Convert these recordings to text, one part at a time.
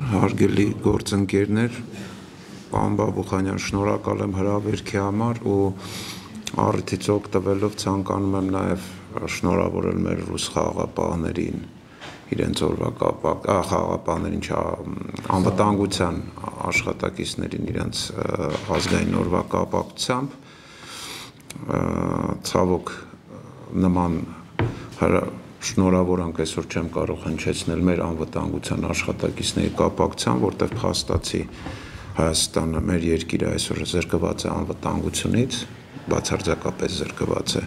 Հարգելի գործընկերներ, պարոն Բաբուխանյան, շնորհակալ եմ հրավերքի համար ու առիթից օգտվելով ցանկանում եմ նաև շնորհավորել մեր ռուս խաղաղապահներին, իրենց օրվա խաղաղապահներին, անվտանգության աշխատակիցներին իրենց ազգային օրվա կապակցությամբ, ցավոք նման շնորհավորանք այսօր չեմ կարող հնչեցնել մեր անվտանգության աշխատակիցների կապակցությամբ, որտեղ փաստացի Հայաստանը, մեր երկիրը այսօր զրկված է անվտանգությունից, բացարձակապես զրկված է,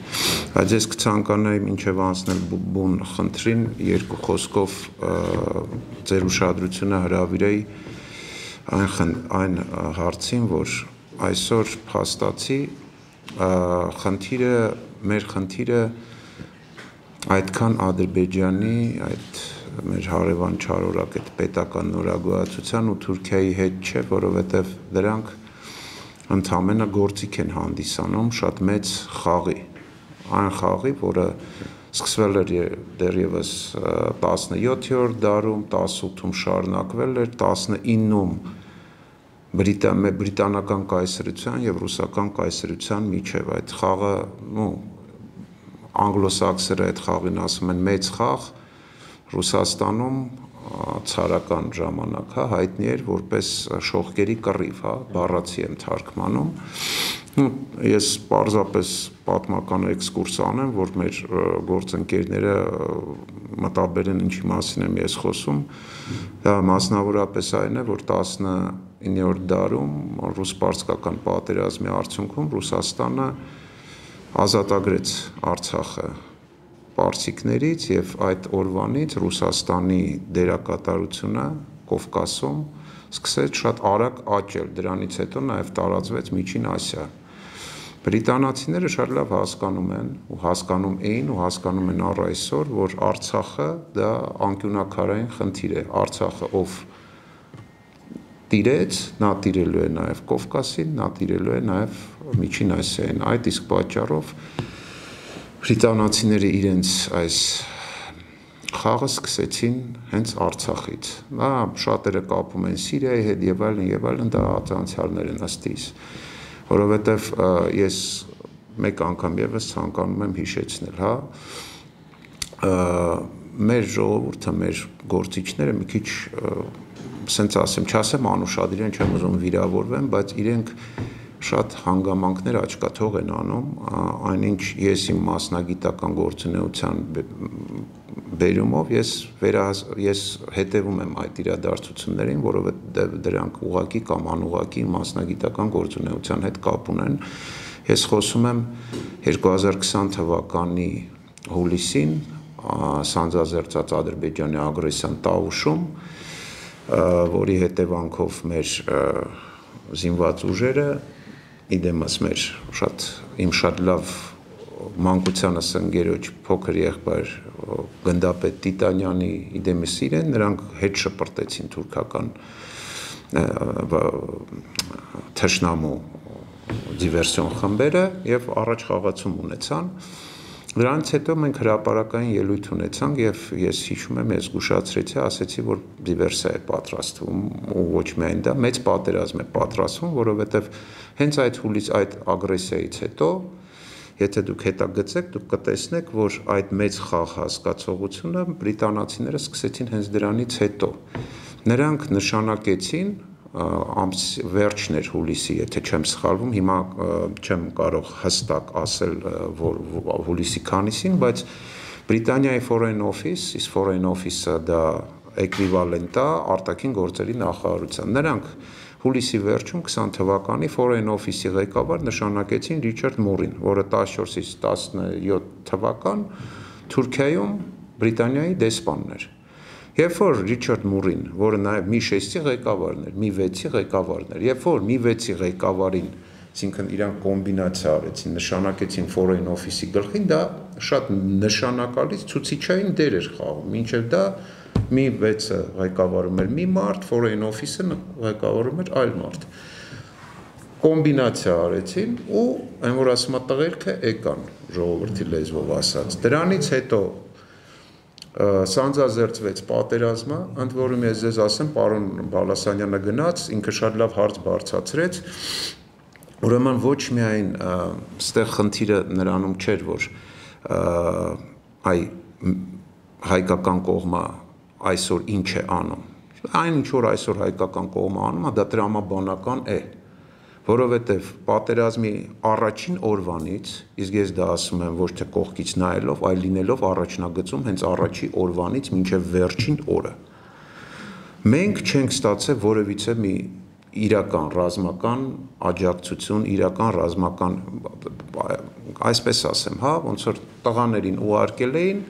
բայց ես կցանկանայի մինչև անցնել բուն խնդրին, երկու խոսքով ձեր ուշադրությունը հրավիրեի այն հարցին, որ այսօր փաստացի մեր խնդիրը այդքան Ադրբեջանի, այդ մեր հարևան չարորակ այդ պետական նորագույացության ու Թուրքիայի հետ չէ, որովհետև դրանք ընդամենը գործիք են հանդիսանում շատ մեծ խաղի, այն խաղի, որը սկսվել էր դեռևս 17-րդ դարում, 18-ում շարունակվել էր, 19-ում բրիտանական կայսրության և ռուսական կայսրության միջև այդ խաղը, անգլոսաքսերը այդ խաղին ասում են մեծ խաղ, Ռուսաստանում ցարական ժամանակ հայտնի էր որպես շողկերի կռիվ, բառացի եմ թարգմանում, ես պարզապես պատմական էքսկուրս անեմ, որ մեր գործընկերները մտաբերեն ինչի մասին եմ ես խոսում, դա մասնավորապես այն է, որ 19-րդ դարում ռուս-պարսկական պատերազմի արդյունքում Ռուսաստանը ազատագրեց Արցախը պարսիկներից և այդ օրվանից Ռուսաստանի դերակատարությունը Կովկասում սկսեց շատ արագ աճել, դրանից հետո նաև տարածվեց Միջին Ասիա։ Բրիտանացիները շատ լավ հասկանում են ու հասկանում էին ու հասկանում են առ այսօր, որ Արցախը դա անկյունաքարային խնդիր է, Արցախը ով տիրեց, նա տիրելու է նաև Կովկասին, նա տիրելու է նաև Միջին Ասիային, այդ իսկ պատճառով բրիտանացիները իրենց այս խաղը սկսեցին հենց Արցախից, շատերը կապում են Սիրիայի հետ և այլն, դա անցյալներ են ըստ իս, որովհետև ես մեկ անգամ ևս ցանկանում եմ հիշեցնել, մեր ժողովուրդը, մեր գործիչները մի քիչ, սենց ասեմ, չասեմ անուշադիր են, չեմ ուզում վիրավորվեմ, բայց իրենք շատ հանգամանքներ աչքաթող են անում, այնինչ ես իմ մասնագիտական գործունեության բերումով ես հետևում եմ այդ իրադարձություններին, որովհետև դրանք ուղղակի կամ անուղղակի մասնագիտական գործունեության հետ կապ ունեն։ Ես խոսում եմ 2020 թվականի հուլիսին սանձազերծած Ադրբեջանի ագրեսիան Տավուշում, որի հետևանքով մեր զինված ուժերը իդեմս իմ շատ լավ մանկությանս ընկերոջ փոքր եղբայր գնդապետ Տիտանյանի իդեմս իրեն, նրանք հետ շպրտեցին թուրքական թշնամու դիվերսիոն խմբերը և առաջ խաղացում ունեցան, դրանից հետո մենք հրապարակային ելույթ ունեցանք և ես հիշում եմ, ես զգուշացրեցի, ասեցի, որ դիվերսիա է պատրաստվում ու ոչ միայն դա, մեծ պատերազմ է պատրաստվում, որովհետև հենց այդ հուլիս այդ ագրեսիայից հետո, եթե դուք հետագծեք, դուք կտեսնեք, որ այդ մեծ խաղ հասկացողությունը բրիտանացիները սկսեցին հենց դրանից հետո, նրանք նշանակեցին վերջն էր հուլիսի, եթե չեմ սխալվում, հիմա չեմ կարող հստակ ասել, որ հուլիսի քանիսին, բայց Բրիտանիայի Foreign Office, իսկ Foreign Office-ը դա էկվիվալենտ է արտաքին գործերի նախարարության, նրանք հուլիսի վերջում 20 թվականի Foreign Office-ի ղեկավար նշանակեցին Ռիչարդ Մուրին, որը 14-ից 17 թվական Թուրքիայում Բրիտանիայի դեսպանն էր։ Երբ որ Ռիչարդ Մուրին, որը նաև մի 6-ի ղեկավարն էր, մի 6-ի ղեկավարն էր, երբ որ մի 6-ի ղեկավարին, այսինքն իրանք կոմբինացիա արեցին, նշանակեցին Foreign Office-ի գլխին, դա շատ նշանակալից ցուցիչային դեր էր խաղում, մինչև դա մի 6-ը ղեկավարում էր մի մարդ, Foreign Office-ը ղեկավարում էր այլ մարդ։ Կոմբինացիա արեցին ու այն որ ասում է տղերքը եկան, ժողովրդի լեզվով ասած։ Դրանից հետո սանձազերծվեց պատերազմը, ընդ որում ես ձեզ ասեմ, պարոն Բալասանյանը գնաց, ինքը շատ լավ հարց բարձրացրեց, ուրեմն ոչ միայն ստեղ խնդիրը նրանում չէր, որ հայկական կողմը այսօր ինչ է անում, այն ինչ որ այսօր հայկական կողմը անում, դա տրամաբանական է, որովհետև պատերազմի առաջին օրվանից, իսկ ես դա ասում եմ ոչ թե կողքից նայելով, այլ լինելով առաջնագծում հենց առաջի օրվանից մինչև վերջին օրը, մենք չենք ստացել որևիցե մի իրական ռազմական աջակցություն, իրական ռազմական, այսպես ասեմ, ոնց որ տղաներին ուղարկել էին,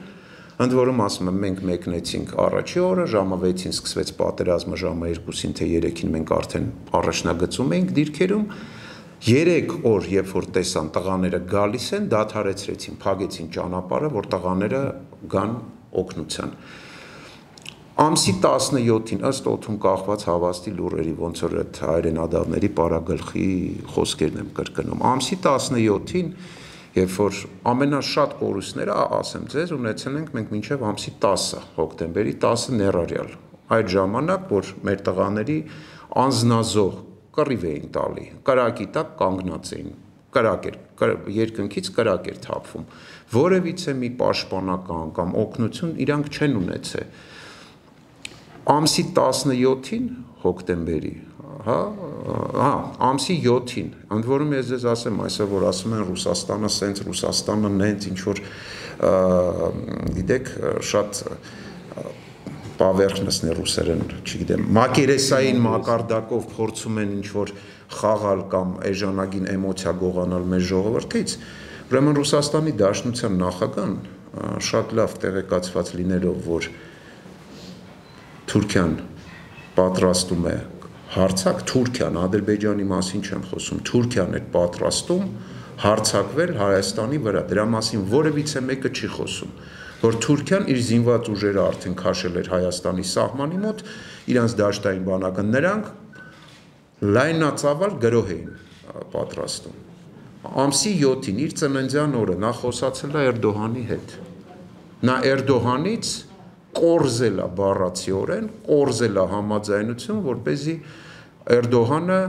ընդ որում ասում եմ, մենք մեկնեցինք առաջի օրը, ժամը 6-ին սկսվեց պատերազմը, ժամը 2-ին թե 3-ին մենք արդեն առաջնագծում էինք դիրքերում, 3 օր, երբ որ տեսան տղաները գալիս են, դադարեցրեցին, փակեցին ճանապարհը, որ տղաները գան օգնության։ Ամսի 17-ին ըստ օդում կախված հավաստի լուրերի, ոնց որ այդ հայրենադավների պարագլխի խոսքերն եմ կրկնում, ամսի 17-ին Երբ որ ամենաշատ կորուստները, ասեմ ձեզ, ունեցել ենք մենք մինչև ամսի 10-ը, հոկտեմբերի 10-ը ներառյալ, այդ ժամանակ, որ մեր տղաների անձնազոհ կռիվ էին տալի, կրակի տակ կանգնած էին, երկնքից կրակ էր թափվում, որևիցե մի պաշտպանական կամ օգնություն իրանք չեն ունեցել։ Ամսի 17-ին հոկտեմբերի ամսի 7-ին, ընդ որում ես ձեզ ասեմ, այսօր որ ասում են Ռուսաստանը սենց, Ռուսաստանը նենց, ինչ որ գիտեք, շատ պավերխնսն է ռուսերեն, չգիտեմ, մակերեսային մակարդակով փորձում են ինչ որ խաղալ կամ էժանագին էմոցիա գողանալ մեր ժողովրդից, ուրեմն Ռուսաստանի Դաշնության նախագահն շատ լավ տեղեկացված լինելով, որ Թուրքիան պատրաստում է հարցակ, Թուրքիան, Ադրբեջանի մասին չեմ խոսում, Թուրքիան է պատրաստում հարցակվել Հայաստանի վրա, դրա մասին որևիցե մեկը չի խոսում, որ Թուրքիան իր զինված ուժերը արդեն քաշել էր Հայաստանի սահմանի մոտ, իրանց դաշտային բանակը, նրանք լայնածավալ գրոհ էին պատրաստում։ Ամսի 7-ին իր ծննդյան օրը նա խոսացել է Էրդողանի հետ, նա Էրդողանից կորզել է բառացիորեն, կորզել է համաձայնություն, որպեսզի Էրդողանը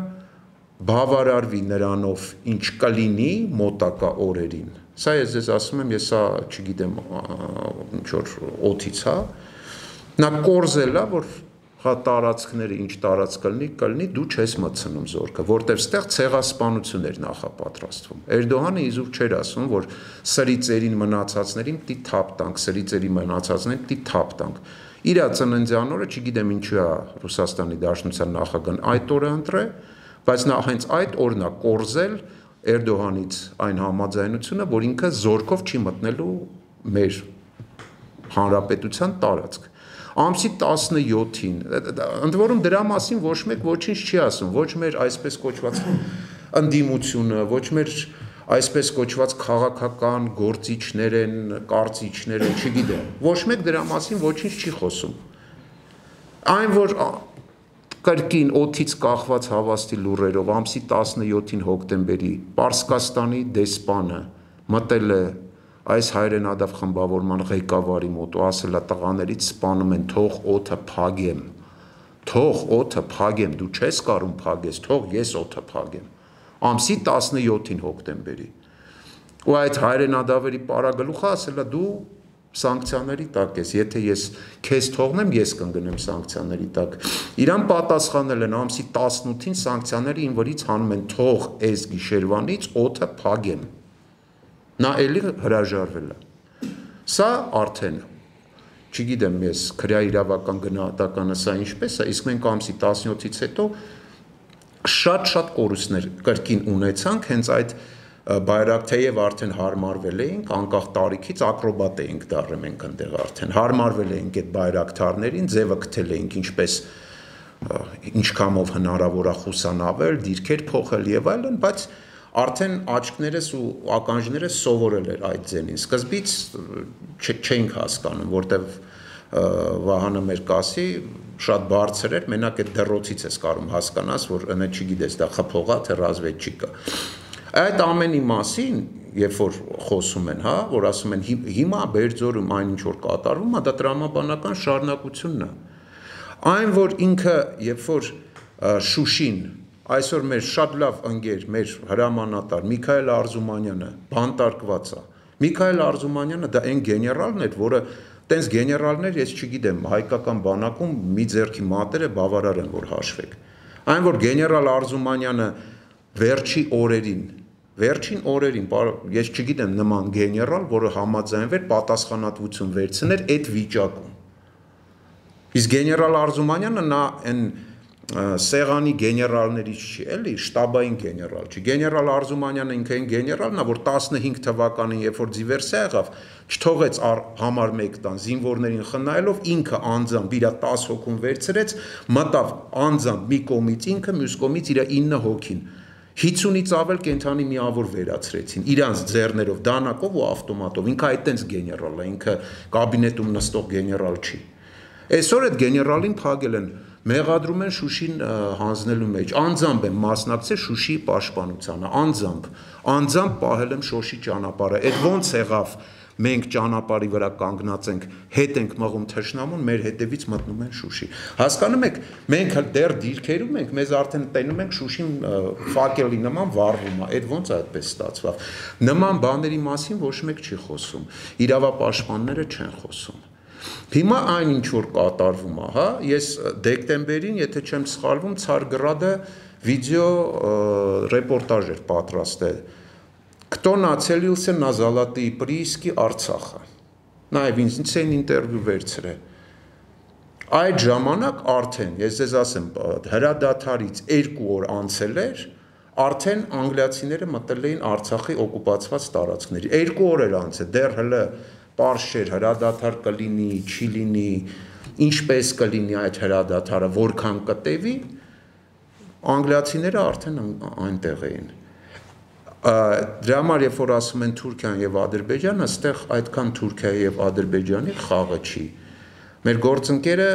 բավարարվի նրանով, ինչ կլինի մոտակա օրերին։ Սա ես ձեզ ասում եմ, ես սա չգիտեմ, ինչ որ օդից, նա կորզել է, որ տարածքները ինչ տարածք կլինի, դու չես մտցնում զորքը, որտեղ ստեղ ցեղասպանություն էր նախապատրաստվում։ Էրդողանը իզուր չէր ասում, որ սրի ծերին մնացածներին պիտի թափ տանք, սրի ծերի մնացածներին պիտի թափ տանք։ Իր ծննդյան օրը, չգիտեմ ինչու է Ռուսաստանի Դաշնության նախագահն այդ օրը ընտրել, բայց նա հենց այդ օրն է կորզել Էրդողանից այն համաձայնությունը, որ ինքը զորքով չի մտնելու մեր հանրապետության տարածք։ Ամսի 17-ին, ընդ որում դրա մասին ոչ մեկ ոչինչ չի ասում, ոչ մեր այսպես կոչված ընդդիմությունը, ոչ մեր այսպես կոչված քաղաքական գործիչներ են, կարծիչներ են, չգիտեմ, ոչ մեկ դրա մասին ոչինչ չի խոսում։ Այն, որ կրկին օդից կախված հավաստի լուրերով ամսի 17-ին հոկտեմբերի Պարսկաստանի դեսպանը մտել է այս հայրենադավ խմբավորման ղեկավարի մոտ ու ասել է տղաներից սպանում են, թող օդը փագեմ, դու չես կարում փագես, թող ես օդը փագեմ, ամսի 17-ին հոկտեմբերի, ու այդ հայրենադավերի պարագլուխը ասել է դու սանկցիաների տակ ես, եթե ես քեզ թողնեմ, ես կընկնեմ սանկցիաների տակ, իրան պատասխանել են ամսի 18-ին սանկցիաները ին վրից հանում են, թող այս գիշերվանից օդը փագեմ, նա էլի հրաժարվել է, սա արդեն, չգիտեմ ես քրյա իրավական գնահատականը սա ինչպես է, իսկ մենք ամսի 17-ից հետո շատ կորուստներ կրկին ունեցանք, հենց այդ Բայրակթեև արդեն հարմարվել էինք, անկախ տարիքից ակրոբատ էինք դառել մենք ընդեղ արդեն, հարմարվել էինք այդ բայրակթարներին, ձևը գտել էինք ինչպես ինչքանով հնարավոր է խուսանավել, դիրքեր փոխել եւ այլն, բայց արդեն աչքներս ու ականջներս սովորել էր այդ ձենին, սկզբից չենք հասկանում, որտեվ Վահանը մեր կասի շատ բարձր էր, մենակ այդ դրոցից ես կարում հասկանաս, որ ընդ չգիտես դա խփողա թե ռազմետչիկա։ Այդ ամենի մասին, երբ որ խոսում են, հա, որ ասում են հիմա Բերձորում այն ինչ որ կատարվում է, դա տրամաբանական շարունակությունն է։ Այն որ ինքը, երբ որ Շուշին այսօր մեր շատ լավ ընկեր, մեր հրամանատար Միքայել Արզումանյանը բանտարկված է։ Միքայել Արզումանյանը դա այն գեներալն էր, որը տենց գեներալներ, ես չգիտեմ, հայկական բանակում մի ձեռքի մատերը բավարար են, որ հաշվեք։ Այն որ գեներալ Արզումանյանը վերջին օրերին, ես չգիտեմ նման գեներալ, որը համաձայնվեր պատասխանատվություն վերցներ այդ վիճակում։ Իսկ գեներալ Արզումանյանը նա այն սեղանի գեներալներից չի, էլի, շտաբային գեներալ չի։ Գեներալ Արզումանյանը ինքը այն գեներալն է, որ 15 թվականին, երբ որ դիվերսիա եղավ, չթողեց համար 1 տան զինվորներին խնայելով, ինքը անձամբ իր 10 հոգուն վերցրեց, մտավ անձամբ մի կողմից ինքը, մյուս կողմից իր 9 հոգին։ 50-ից ավել կենթանի միավոր վերացրեցին, իրանց ձեռներով, դանակով ու ավտոմատով, ինքը այդտենց գեներալ է, ինքը կաբինետում նստող գեներալ չի։ Այսօր այդ գեներալին փակել են, մեղադրում են Շուշին հանձնելու մեջ, անձամբ եմ մասնակցել Շուշիի պաշտպանությանը, անձամբ պահել եմ Շոշի ճանապարհը, այդ ոնց եղավ մենք ճանապարհի վրա կանգնած ենք, հետ ենք մղում թշնամուն, մեր հետևից մտնում են Շուշի։ Հասկանում եք, մենք դեռ դիրքերում ենք, մեզ արդեն տենում ենք Շուշին ֆակելի նման վառվում է, այդ ոնց այդպես ստացվավ։ Նման բաների մասին ոչ մեկ չի խոսում, իրավապաշտպանները չեն խոսում։ Հիմա այն ինչ որ կատարվում է, հա, ես դեկտեմբերին, եթե չեմ սխալվում, Ցարգրադը վիդեո ռեպորտաժ էր պատրաստել։ Кто нацелился на золотые прииски Արցախը։ Նաև ինձ են ինտերվյու վերցրել։ Այդ ժամանակ արդեն, ես ձեզ ասեմ, հրադադարից 2 օր անցել էր, արդեն անգլիացիները մտել էին Արցախի օկուպացված տարածքների։ 2 օր էր անցել, դեռ հələ պարզ չէր հրադադար կլինի, չի լինի, ինչպես կլինի այդ հրադադարը, որքան կտևի, անգլիացիները արդեն այնտեղ էին։ Դրա համար երբ որ ասում են Թուրքիան եւ Ադրբեջանը, այստեղ այդքան Թուրքիայի եւ Ադրբեջանի խաղը չի։ Մեր գործընկերը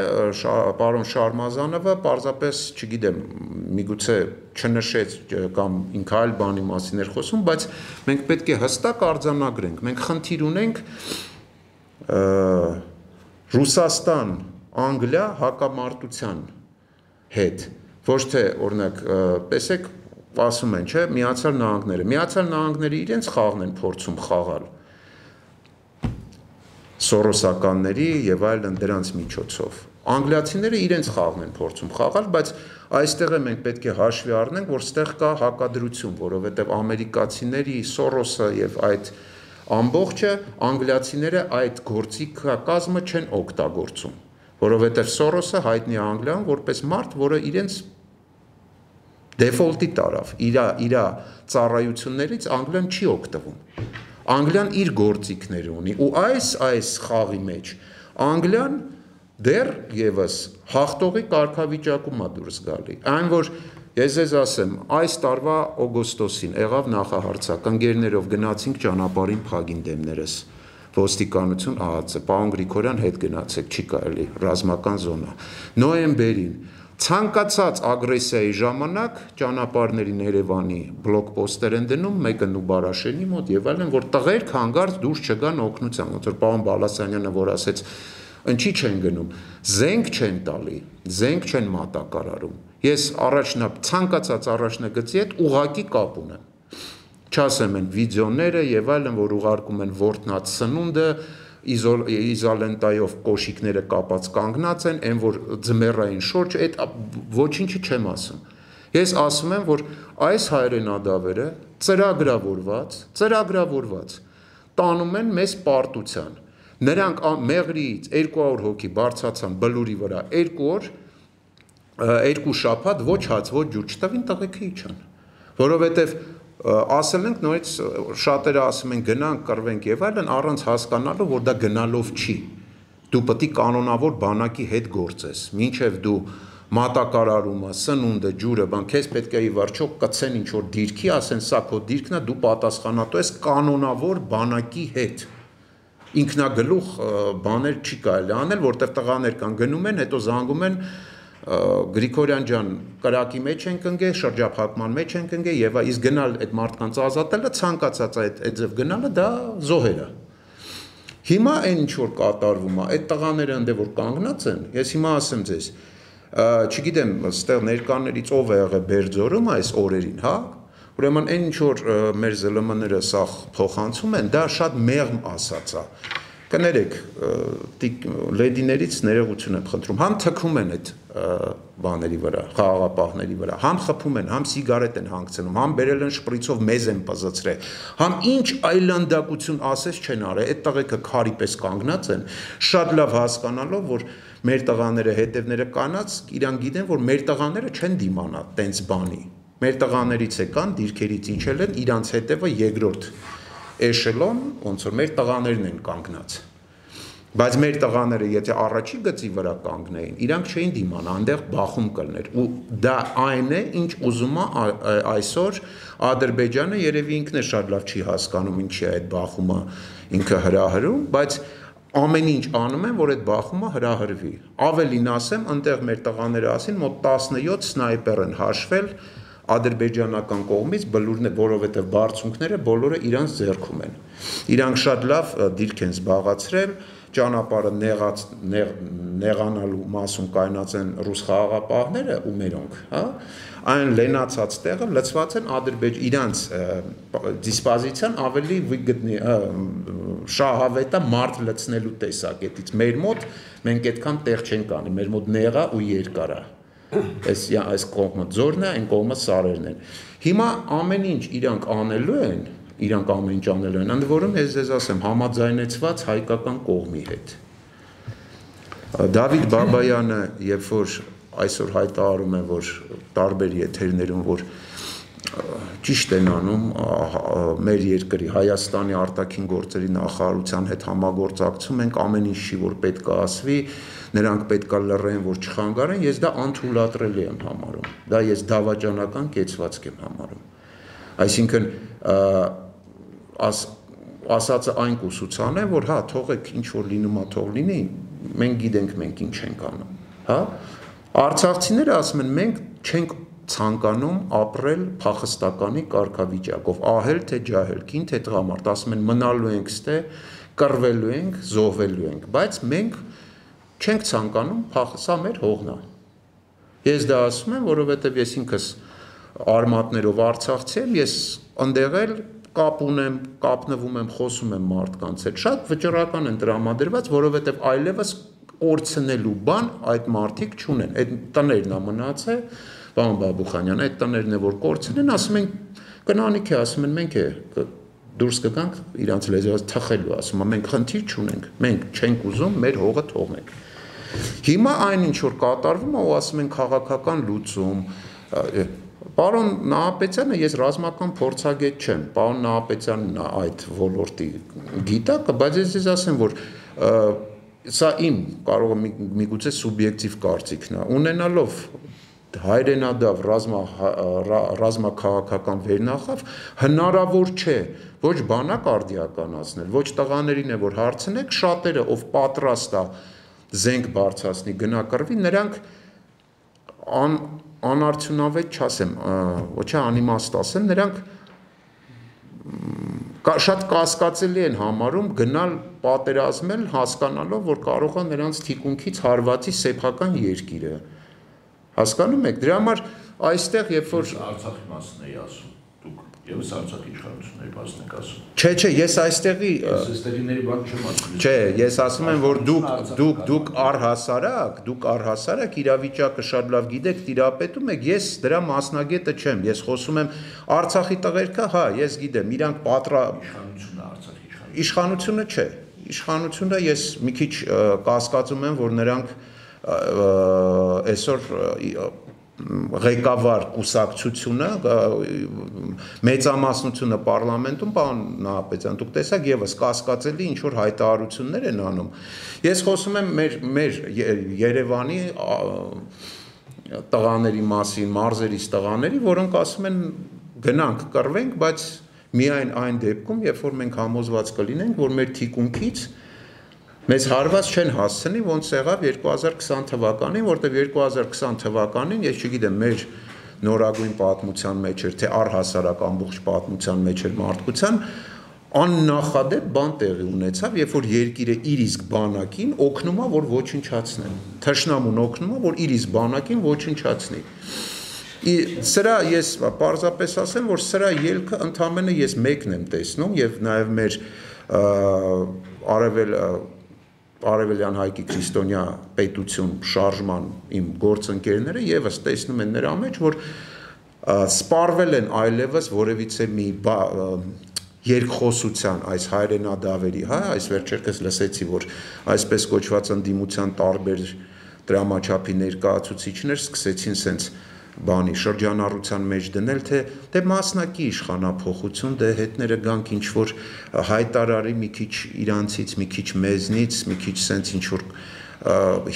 պարոն Շարմազանովը պարզապես, չգիտեմ, միգուցե չնշեց կամ ինքը այլ բանի մասին էր խոսում, բայց մենք պետք է հստակ արձանագրենք, մենք խնդիր ունենք Ռուսաստան, Անգլիա հակամարտության հետ, ոչ թե օրինակ, տեսեք, ասում են, չէ, Միացյալ Նահանգները իրենց խաղն են փորձում խաղալ սորոսականների եւ այլն դրանց միջոցով։ Անգլիացիները իրենց խաղն են փորձում խաղալ, բայց այստեղ մենք պետք է հաշվի առնենք, որ ստեղ կա հակադրություն, որովհետեւ ամերիկացիների Սորոսը եւ այդ ամբողջը անգլիացիները այդ գործիքակազմը չեն օգտագործում, որովհետեւ Սորոսը հայտնի է Անգլիայում որպես մարդ, որը իրենց դեֆոլտի տարավ, իր ծառայություններից Անգլիան չի օգտվում։ Անգլիան իր գործիքները ունի ու այս խաղի մեջ Անգլիան դեռ եւս հաղթողի կարգավիճակում է դուրս գալի։ Այն որ ես ձեզ ասեմ, այս տարվա օգոստոսին եղավ նախահարցակ, ընկերներով գնացինք ճանապարհին փագին դեմներս, ոստիկանություն ԱԱՑ, պարոն Գրիգորյան հետ գնացեք, չի կարելի, ռազմական զոնա։ Նոյեմբերին ցանկացած ագրեսիայի ժամանակ ճանապարհներին Երևանի բլոկպոստեր են դնում, մեկը Նուբարաշենի մոտ եւ այլն, որ տղերք հանգարց դուրս չգան օգնության, ոնց որ պարոն Բալասանյանը որ ասեց, ինչի չեն գնում, զենք չեն տալի, զենք չեն մատակարարում։ Ես ցանկացած առաջնագծի հետ ուղակի կապ ունեմ։ Չասեմ են վիդեոները եւ այլն, որ ուղարկում են ворտնած սնունդը, իզոլենտայով կոշիկները կապած կանգնած են, այն որ ձմեռային շորջ, այդ ոչինչը չեմ ասում։ Ես ասում եմ, որ այս հայրենադավերը ծրագրավորված տանում են մեզ պարտության։ Նրանք մեղրիից 200 հոգի բարձրացան բլուրի վրա 2 օր, 2 շաբաթ ոչ հաց, ոչ ջուր չտվին, տղեկը իջան, որովհետև ասել ենք նորից շատերը ասում են գնանք կռվենք եւ այլն առանց հասկանալու որ դա գնալով չի դու պետք է կանոնավոր բանակի հետ գործես մինչեւ դու մատակարարումը սնունդը ջուրը բան քեզ պետք է ի վերջո կցեն ինչ որ դիրքի ասեն սա քո դիրքն է դու պատասխանատու ես կանոնավոր բանակի հետ ինքնագլուխ բաներ չի կարելի անել որտեղ տղաներ կան գնում են հետո զանգում են Գրիգորյան ջան կրակի մեջ ենք ընկել, շրջափակման մեջ ենք ընկել եւ իսկ գնալ այդ մարդկանց ազատելը ցանկացած այդ ձև գնալը դա զոհեր է։ Հիմա այն ինչ որ կատարվում է, այդ տղաները ընդ որ կանգնած են, ես հիմա ասեմ ձեզ, չգիտեմ, այստեղ ներկաներից ով է եղել Բերձորում այս օրերին, հա։ Ուրեմն այն ինչ որ մեր ԶԼՄ-ները սա փոխանցում են, դա շատ մեղմ ասած է։ Կներեք, լեդիներից ներողություն եմ խնդրում, համ թքում են այդ բաների վրա, խաղաղապահների վրա, համ խփում են, համ սիգարետ են հանգցնում, համ բերել են շպրիցով մեզ են պզծրել, համ ինչ այլանդակություն ասես չեն արել, այդ տղեկը քարի պես կանգնած են, շատ լավ հասկանալով, որ մեր տղաները հետևները կանած, իրանք գիտեն, որ մեր տղաները չեն դիմանա տենց բանի, մեր տղաներից եկան, դիրքերից ինչել են, իրանց հետևը երկրորդ էշելոն, ոնց որ մեր տղաներն են կանգնած, բայց մեր տղաները եթե առաջի գծի վրա կանգնեին, իրանք չէին դիմանա, այնտեղ բախում կլներ, ու դա այն է, ինչ ուզում է այսօր Ադրբեջանը, երևի ինքն է շատ լավ չի հասկանում, ինչի է այդ բախումը ինքը հրահրում, բայց ամեն ինչ անում են, որ այդ բախումը հրահրվի, ավելին ասեմ, այնտեղ մեր տղաները ասին, մոտ 17 սնայպեր են հաշվել ադրբեջանական կողմից բլուրն է, որովհետև բարձունքները բոլորը իրանց ձեռքում են։ Իրանք շատ լավ դիրք են զբաղացրել, ճանապարհը նեղանալու մասում կայնած են ռուս խաղաղապահները ու մերոնք, հա։ Այն լենացած տեղը լցված են իրանց դիսպոզիցիան ավելի վիգտնի շահավետ է մարդ լցնելու տեսակետից։ Մեր մոտ մենք այդքան տեղ չենք անի, մեր մոտ նեղա ու երկար է։ Այս կողմը ձորն է, այն կողմը սարերն են։ Հիմա ամեն ինչ իրանք անելու են, ընդ որում ես ձեզ ասեմ, համաձայնեցված հայկական կողմի հետ։ Դավիթ Բաբայանը, երբ որ այսօր հայտարարում է, որ տարբեր եթերներում, որ ճիշտ են անում մեր երկրի Հայաստանի արտաքին գործերի նախարարության հետ համագործակցում ենք, ամեն ինչ չի, որ պետք է ասվի, նրանք պետք է լռեն, որ չխանգարեն, ես դա անթույլատրելի եմ համարում, դա ես դավաճանական կեցվածք եմ համարում, այսինքն ասածը այն կուսուցան է, որ հա, թողեք ինչ որ լինում է, թող լինի, մենք գիտենք մենք ինչ ենք անում, հա, արցախցիները ասում են, մենք չենք ցանկանում ապրել փախստականի կարգավիճակով, ահել թե ջահել, կին թե տղամարդ, ասում են մնալու ենք ստե, կռվելու ենք, զոհվելու ենք, բայց մենք չենք ցանկանում սա մեր հողն է։ Ես դա ասում եմ, որովհետև ես ինքս արմատներով արցախցի եմ, ես ընդեղ էլ կապ ունեմ, կապնվում եմ, խոսում եմ մարդկանց հետ, շատ վճռական են տրամադրված, որովհետև այլևս օրցնելու բան այդ մարդիկ չունեն, այդ տներն է մնացել, պարոն Բաբուխանյան, այդ տներն է որ կորցնեն, ասում են կնանիք է, ասում են մենք է դուրս կգանք իրանց լեզվով թխելու, ասում են մենք խնդիր չունենք, մենք չենք ուզում մեր հողը թողնենք։ Հիմա այն ինչ որ կատարվում է, ու ասում են քաղաքական լուծում, պարոն Նահապետյանը ես ռազմական փորձագետ չեմ, պարոն Նահապետյանն է այդ ոլորտի գիտակը, բայց ես ձեզ ասեմ, որ սա իմ կարող է միգուցե սուբյեկտիվ կարծիքն է, ունենալով հայրենադավ ռազմաքաղաքական վերնախավ հնարավոր չէ ոչ բանակ արդիականացնել, ոչ տղաներին է որ հարցնեք, շատերը ով պատրաստ է զենք բարձրացնի գնակրվի, նրանք անարդյունավետ չասեմ, ոչ անիմաստ ասեմ, նրանք շատ կասկածելի են համարում գնալ պատերազմել հասկանալով, որ կարող է նրանց թիկունքից հարվածի սեփական երկիրը։ Հասկանում եք, դրա համար այստեղ երբ որ Արցախի մասն էի ասում, դուք եւս Արցախի իշխանությունների մասն եք ասում։ Չէ, ես այստեղի Ստերիների բան չեմ ասում։ Չէ, ես ասում եմ, որ դուք առհասարակ իրավիճակը շատ լավ գիտեք, տիրապետում եք, ես դրա մասնագետը չեմ, ես խոսում եմ Արցախի տղերքը, հա, ես գիտեմ, իրանք Իշխանությունը Արցախի իշխանությունը չէ, իշխանությունը ես մի քիչ կասկածում եմ, որ նրանք այսօր ղեկավար կուսակցությունը մեծամասնությունը պարլամենտում պարոն Նահապետյան դուք տեսակ եւս կասկածելի ինչ որ հայտարարություններ են անում ես խոսում եմ մեր Երևանի տղաների մասին մարզերից տղաների որոնք ասում են գնանք կռվենք բայց միայն այն դեպքում երբ որ մենք համոզված կլինենք որ մեր թիկունքից Մեզ հարված չեն հասցնի, ոնց եղավ 2020 թվականին, որտեղ 2020 թվականին, ես չգիտեմ, մեր նորագույն պատմության մեջ էր, թե առհասարակ ամբողջ պատմության մեջ էր մարդկության, աննախադեպ բան տեղի ունեցավ, երբ որ երկիրը իր իսկ բանակին օգնում է, որ ոչնչացնեն։ Թշնամուն օգնում է, որ իր իսկ բանակին ոչնչացնի։ Սրա ես պարզապես ասեմ, որ սրա ելքը ընդամենը ես մեկն եմ տեսնում եւ նաեւ մեր Արևելյան Հայկի քրիստոնյա պետություն շարժման իմ գործընկերները եւս տեսնում են նրա մեջ, որ սպառվել են այլևս որևիցե մի երկխոսության այս հայրենադավերի, հա, այս վերջերս լսեցի, որ այսպես կոչված ընդդիմության տարբեր դրամաչափի ներկայացուցիչներ սկսեցին սենց բանի շրջանառության մեջ դնել, թե մասնակի իշխանափոխություն, դե հետները գանք ինչ-որ հայտարարի մի քիչ իրանցից, մի քիչ մեզնից, մի քիչ սենց ինչ-որ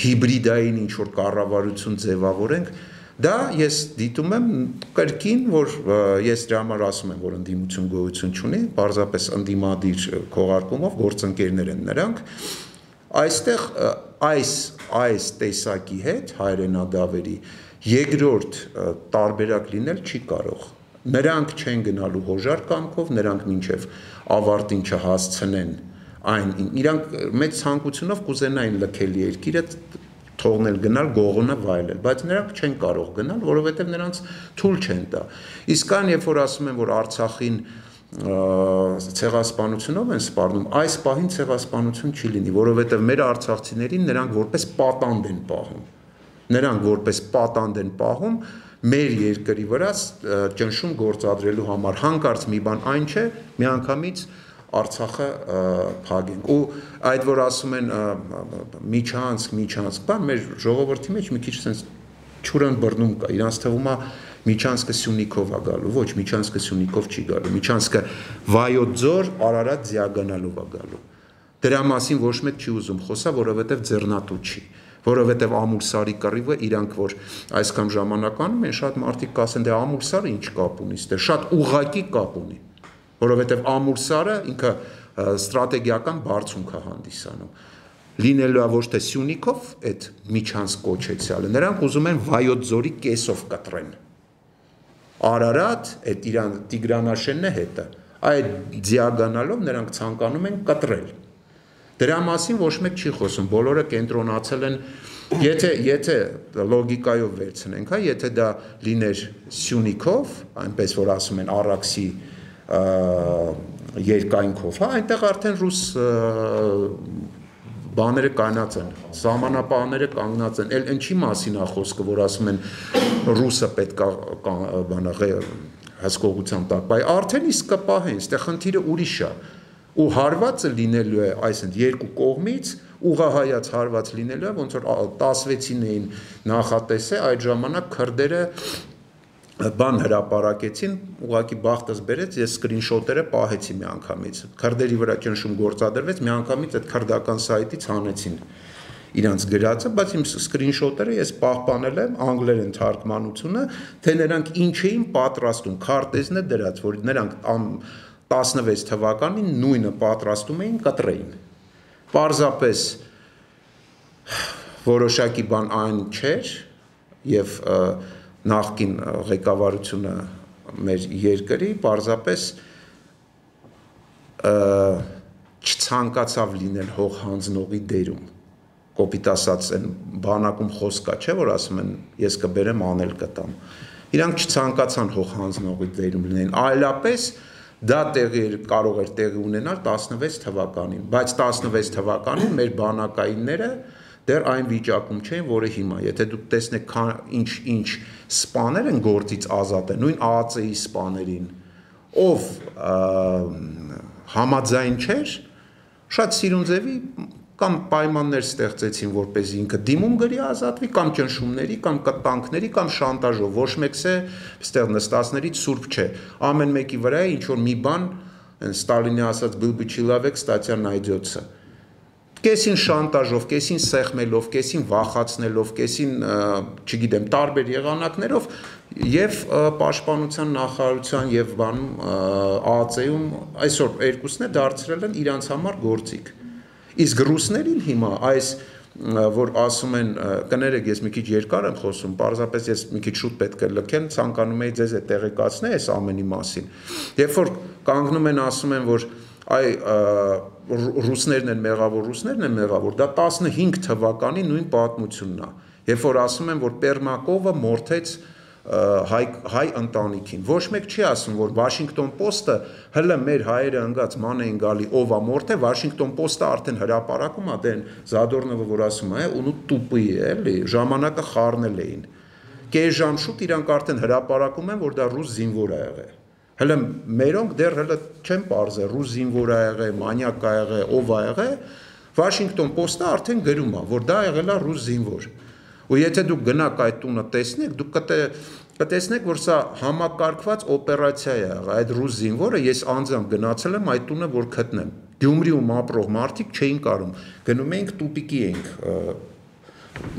հիբրիդային ինչ-որ կառավարություն ձևավորենք, դա ես դիտում եմ կրկին, որ ես դրա համար ասում եմ, որ ընդդիմություն գոյություն չունի, պարզապես ընդդիմադիր քողարկումով գործընկերներ են նրանք, այստեղ այս տեսակի հետ հայրենադավերի երկրորդ տարբերակ լինել չի կարող, նրանք չեն գնալու հոժար կամքով, նրանք մինչև ավարտին չհասցնեն այն, իրանք մեծ ցանկությունով կուզենային լքել երկիրը, թողնել գնալ, գողունը վայելել, բայց նրանք չեն կարող գնալ, որովհետև նրանց թույլ չեն տա։ Իսկ այն, երբ որ ասում են, որ Արցախին ցեղասպանությունով են սպառնում, այս պահին ցեղասպանություն չի լինի, որովհետև մեր արցախցիներին նրանք որպես պատանդ են պահում։ Նրանք որպես պատանդ են պահում մեր երկրի վրա ճնշում գործադրելու համար, հանկարծ մի բան այն չէ, միանգամից Արցախը փագենք, ու այդ որ ասում են միջանցք, բան մեր ժողովրդի մեջ մի քիչ sense չուրան բռնում կա, իրանց թվում է միջանցքը Սյունիքով է գալու, ոչ, միջանցքը Սյունիքով չի գալու, միջանցքը Վայոց ձոր, Արարատ ձիագանալով է գալու, դրա մասին ոչ մեկ չի ուզում խոսա, որովհետև ձեռնատու չի, որովհետև Ամուլսարի կռիվը իրանք որ այսքան ժամանակ անում են, շատ մարդիկ կասեն, դե Ամուլսարը ինչ կապ ունի, դե շատ ուղղակի կապ ունի, որովհետև Ամուլսարը ինքը ստրատեգիական բարձունք է հանդիսանում, լինելու է ոչ թե Սյունիքով այդ միջանցք կոչեցյալը, նրանք ուզում են Վայոց ձորի կեսով կտրեն, Արարատ, այդ իրան Տիգրանաշենն է հետը, այդ ձիագանալով նրանք ցանկանում են կտրել, դրա մասին ոչ մեկ չի խոսում, բոլորը կենտրոնացել են, եթե լոգիկայով վերցնենք, եթե դա լիներ Սյունիքով, այնպես որ ասում են Արաքսի երկայնքով, այնտեղ արդեն ռուս բաները կայնած են, սահմանապահները կանգնած են, ինչի մասին է խոսքը, որ ասում են ռուսը պետք է հսկողության տակ, բայ արդեն իսկ կպահեն, ստեղ խնդիրը ուրիշ է, ու հարվածը լինելու է, այսինքն երկու կողմից ուղղահայաց հարված լինելու է, ոնց որ 16-ին էին նախատեսել, այդ ժամանակ քրդերը բան հրապարակեցին, ուղղակի բախտս բերեց, ես սկրինշոտերը պահեցի միանգամից, քրդերի վրա ճնշում գործադրվեց, միանգամից այդ քրդական սայթից հանեցին իրանց գրածը, բայց իմ սկրինշոտերը ես պահպանել եմ անգլերեն թարգմանությունը, թե նրանք ինչ էին պատրաստում, քարտեզն է դրած, որ նրանք 16 թվականին նույնը պատրաստում էին կտրեին, պարզապես որոշակի բան այն չէր և նախկին ղեկավարությունը մեր երկրի պարզապես չցանկացավ լինել հող հանձնողի դերում, կոպիտ ասած են բանակում խոսք կա, չէ, որ ասում են ես կբերեմ անել կտամ, իրանք չցանկացան հող հանձնողի դերում լինեն, այլապես դա կարող էր տեղի ունենալ 16 թվականին, բայց 16 թվականին մեր բանակայինները դեռ այն վիճակում չէին, որը հիմա, եթե դուք տեսնեք ինչ սպաներ են գործից ազատ են, նույն ԱԱԾ-ի սպաներին, ով համաձայն չէր, շատ Սիրունձևի կամ պայմաններ ստեղծեցին, որպեսզի ինքը դիմում գրի ազատվի, կամ ճնշումների, կամ կտանքների, կամ շանտաժով, ոչ մեկս է ստեղ նստածներից սուրբ չէ, ամեն մեկի վրա է ինչ-որ մի բան, Ստալինի ասած «Был бы человек, статья найдется», կեսին շանտաժով, կեսին սեղմելով, կեսին վախացնելով, կեսին, չգիտեմ, տարբեր եղանակներով և պաշտպանության նախարարության և բանում ԱԱԾ-ում այսօր երկուսն է դարձրել են իրանց համար գործիք։ Իսկ ռուսներին հիմա այս որ ասում են կներեք ես մի քիչ երկար եմ խոսում, պարզապես ես մի քիչ շուտ պետք է լքեմ, ցանկանում եի ձեզ տեղեկացնել այս ամենի մասին։ Երբ որ կանգնում են ասում են, որ այ ռուսներն են մեղավոր, դա 15 թվականի նույն պատմությունն է։ Երբ որ ասում են, որ Պերմակովը մորթեց հայ ընտանիքին։ Ոչ մեկ չի ասում, որ Washington Post-ը հələ մեր հայերը ընկած ման էին գալի, ով է մորթե, Washington Post-ը արդեն հրապարակում է, դեն Զադորնովը որ ասում է, ու տուպի է, էլի, ժամանակը խառնել էին։ Կես ժամ շուտ իրանք արդեն հրապարակում են, որ դա ռուս զինվոր է եղել։ Հələ մերոնք դեռ հələ չեն պարզել, ռուս զինվոր է եղել, մանյակ է եղել, ով է եղել, Washington Post-ը արդեն գրում է, որ դա եղել է ռուս զինվոր։ Ու եթե դուք գնաք այդ տունը տեսնեք, դուք կտեսնեք, որ սա համակարգված օպերացիա է եղել, այդ ռուս զինվորը ես անձամբ գնացել եմ այդ տունը, որ գտնեմ։ Գյումրիում ապրող մարդիկ չէին կարող, գնում էինք տուպիկի էինք,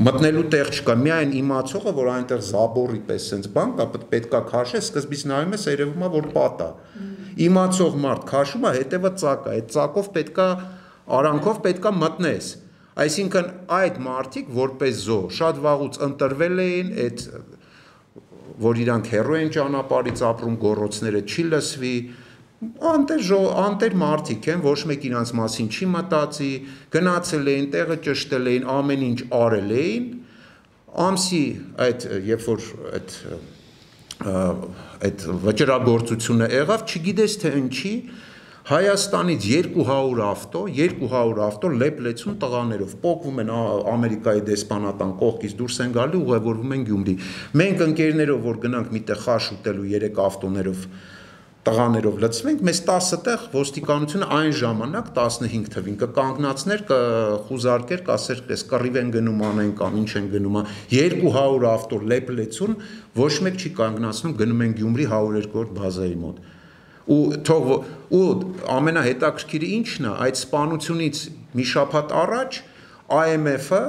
մտնելու տեղ չկա, միայն իմացողը, որ այնտեղ զաբորի պես սենց բան կա, պետքա քաշես, սկզբից նայում ես, երևում է, որ պատ է։ Իմացող մարդ քաշում է, հետևը ծակ է, այդ ծակով պետքա արանքով պետքա մտնես։ Այսինքն այդ մարդիկ որպես զո շատ վաղուց ընտրվել էին, այդ որ իրանք հերո են ճանապարհից ապրում, գոռոցները չի լսվի, անտեր մարդիկ են, ոչ մեկ իրանց մասին չի մտածի, գնացել էին, տեղը ճշտել էին, ամեն ինչ արել էին, ամսի այդ երբ որ այդ վճռագործությունը եղավ, չգիտես թե ինչի Հայաստանից 200 ավտո լեփ-լեցուն տղաներով պոկվում են Ամերիկայի դեսպանատան կողքից դուրս են գալի ուղևորվում են Գյումրի։ Մենք ընկերներով որ գնանք միտեղ խաշ ուտելու 3 ավտոներով տղաներով լցվենք, մեզ 10 տեղ ոստիկանությունը այն ժամանակ 15 թվին կկանգնացներ, կխուզարկեր, կասեր, «Էս կռիվ են գնում անեն կամ ինչ են գնում»։ 200 ավտո լեփ-լեցուն ոչ մեկ չի կանգնացնում, գնում են Գյումրի 102-րդ բազայի մոտ։ Ու ամենահետաքրքիրը ինչն է, այդ սպանությունից մի շաբաթ առաջ IMF-ը,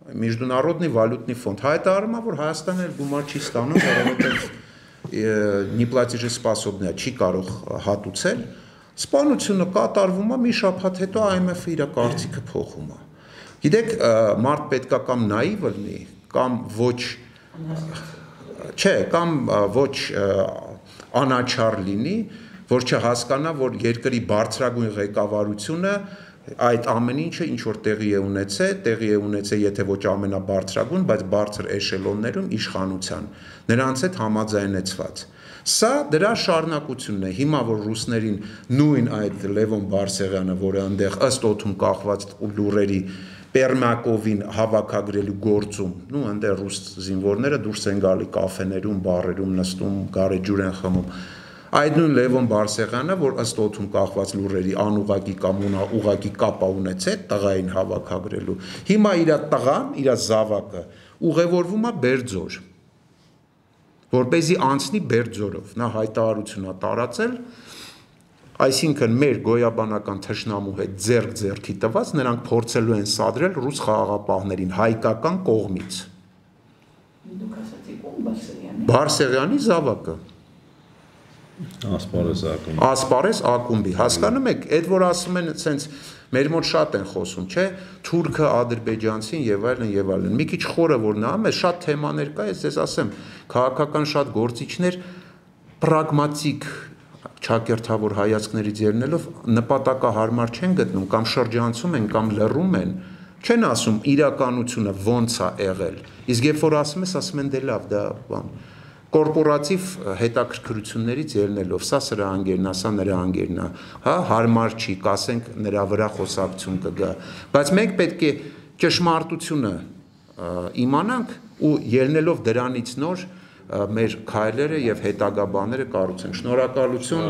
Միջնորодный валютный фонд, հայտարարում է, որ Հայաստանը գումար չի ստանում, որովհետև неплатежеспособный չի կարող հատուցել, սպանությունը կատարվում է, մի շաբաթ հետո IMF-ը իր կարծիքը փոխում է։ Գիտեք, մարդ պետքա կամ նայիվ լինի, կամ ոչ անաչառ լինի, որ չհասկանա, որ երկրի բարձրագույն ղեկավարությունը այդ ամեն ինչը ինչ որ տեղի է ունեցել, եթե ոչ ամենաբարձրագույն, բայց բարձր էշելոններում իշխանության, նրանց հետ համաձայնեցված։ Սա դրա շարունակությունն է, հիմա որ ռուսներին նույն այդ Լևոն Բարսեղյանը, որը այնտեղ ըստ օդում կախված լուրերի Պերմակովին հավաքագրելու գործում, այնտեղ ռուս զինվորները դուրս են գալի կաֆեներում, բարերում նստում, գարեջուր են խմում։ Այդ նույն Լևոն Բարսեղյանը, որ ըստ օդում կախված լուրերի անուղղակի կամ ուղղակի կապ ունեցել տղային հավաքագրելու, հիմա իր տղան, իր զավակը ուղևորվում է Բերձոր, որպեսզի անցնի Բերձորով, նա հայտարարություն է տարածել, այսինքն մեր գոյաբանական թշնամու հետ ձեռք-ձեռքի տված նրանք փորձելու են սադրել ռուս խաղաղապահներին հայկական կողմից։ Դուք ասացիք ում Բարսեղյանի։ Բարսեղյանի զավակը։ Ասպարես ակումբի, հասկանում եք, այդ որ ասում են սենց մեր մոտ շատ են խոսում, չէ, թուրքը, ադրբեջանցին եւ այլն, մի քիչ խորը որ նայում ես, շատ թեմաներ կա, ես ձեզ ասեմ, քաղաքական շատ գործիչներ պրագմատիկ չակերտավոր հայացքներից ելնելով նպատակահարմար չեն գտնում կամ շրջանցում են կամ լռում են, չեն ասում իրականությունը ոնց է եղել, իսկ երբ որ ասում են դե լավ, դա բան կորպորատիվ հետաքրքրություններից ելնելով, սա սրա անգերն է, սա նրա անգերն է, հա, հարմար չի, կասենք նրա վրա խոսակցություն կգա, բայց մենք պետք է ճշմարտությունը իմանանք ու ելնելով դրանից նոր մեր քայլերը եւ հետագա բաները կառուցենք։ Շնորհակալություն